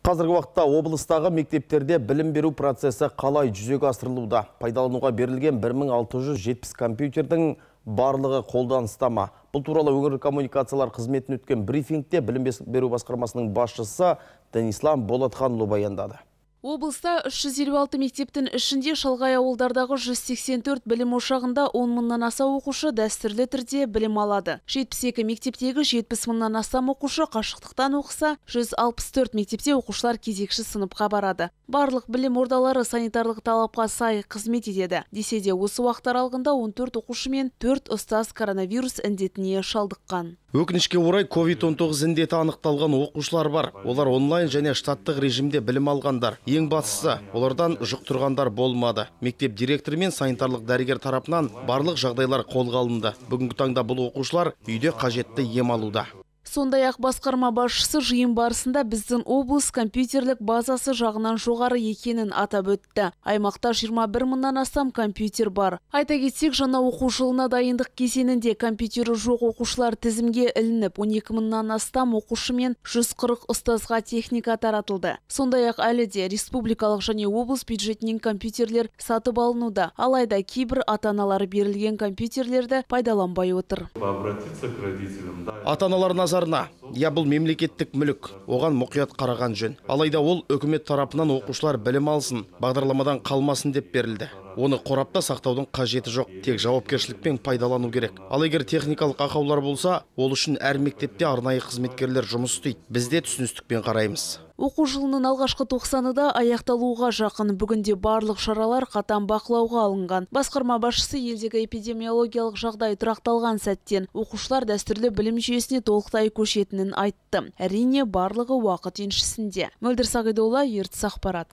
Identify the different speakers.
Speaker 1: Қазіргі уақытта облыстағы мектептерде білім беру процесі қалай жүзеге асырылуда? Пайдалануға берілген 1670 компьютердің барлығы қолданыста ма? Бұл туралы өңірлік коммуникациялар қызметін өткен брифингте білім беру басқармасының басшысы Денислам Болатханұлы баяндады.
Speaker 2: Облыста 356 мектептің ішінде шалғай ауылдардағы 184 білім ошағында 10 мыңнан аса оқушы дәстүрлі түрде білім алады. 72 мектептегі 70 мыңнан астам оқушы қашықтықтан оқыса, 164 мектепте оқушылар кезекші сыныпқа барады. Барлық білім ордалары санитарлық талапқа сай қызмет етеді. Десе де осы уақыт аралығында 14 оқушы мен 4 ұстаз коронавирус індетіне шалдыққан.
Speaker 1: Өкінішке орай COVID-19 індеті анықталған оқушылар бар. Олар онлайн және штаттық режимде білім алғандар. Ең бастысы, олардан жұқтырғандар болмады. Мектеп директоры мен санитарлық дәрігер тарапынан барлық жағдайлар қолға алынды. Бүгінгі таңда бұл оқушылар үйде қажетті ем алуда.
Speaker 2: Сондай-ақ басқарма басшысы жиын барысында біздің облыс компьютерлік базасы жағынан жоғары екенін атап өтті. Аймақта 21 мыңнан астам компьютер бар. Айта кетсек, жаңа оқу жылына дайындық кезеңінде компьютері жоқ оқушылар тізімге ілініп, 12 мыңнан астам оқушы мен 140 ұстазға техника таратылды. Сондай-ақ әлі де республикалық және облыс бюджетінен компьютерлер сатып алынуда. Алайда кейбір ата-аналары берілген компьютерлерді пайдаланбай отыр.
Speaker 1: Ата-аналар назарына, бұл мемлекеттік мүлік, оған мұқият қараған жөн. Алайда ол үкімет тарапынан оқушылар білім алсын, бағдарламадан қалмасын деп берілді. Оны қорапта сақтаудың қажеті жоқ, тек жауапкершілікпен пайдалану керек. Ал егер техникалық ақаулар болса, ол үшін әр мектепте арнайы қызметкерлер жұмыс істейді. Біз де түсіністікпен қараймыз.
Speaker 2: Оқу жылының алғашқы 90-да аяқталуға жақын. Бүгінде барлық шаралар қатаң бақылауға алынған. Басқарма басшысы елдегі эпидемиологиялық жағдай тұрақталған сәттен оқушылар дәстүрлі білім жүйесіне толықтай көшетінін айтты. Әрине, барлығы уақыт еншісінде. Мөлдір Сағидолла, Ертіс ақпарат.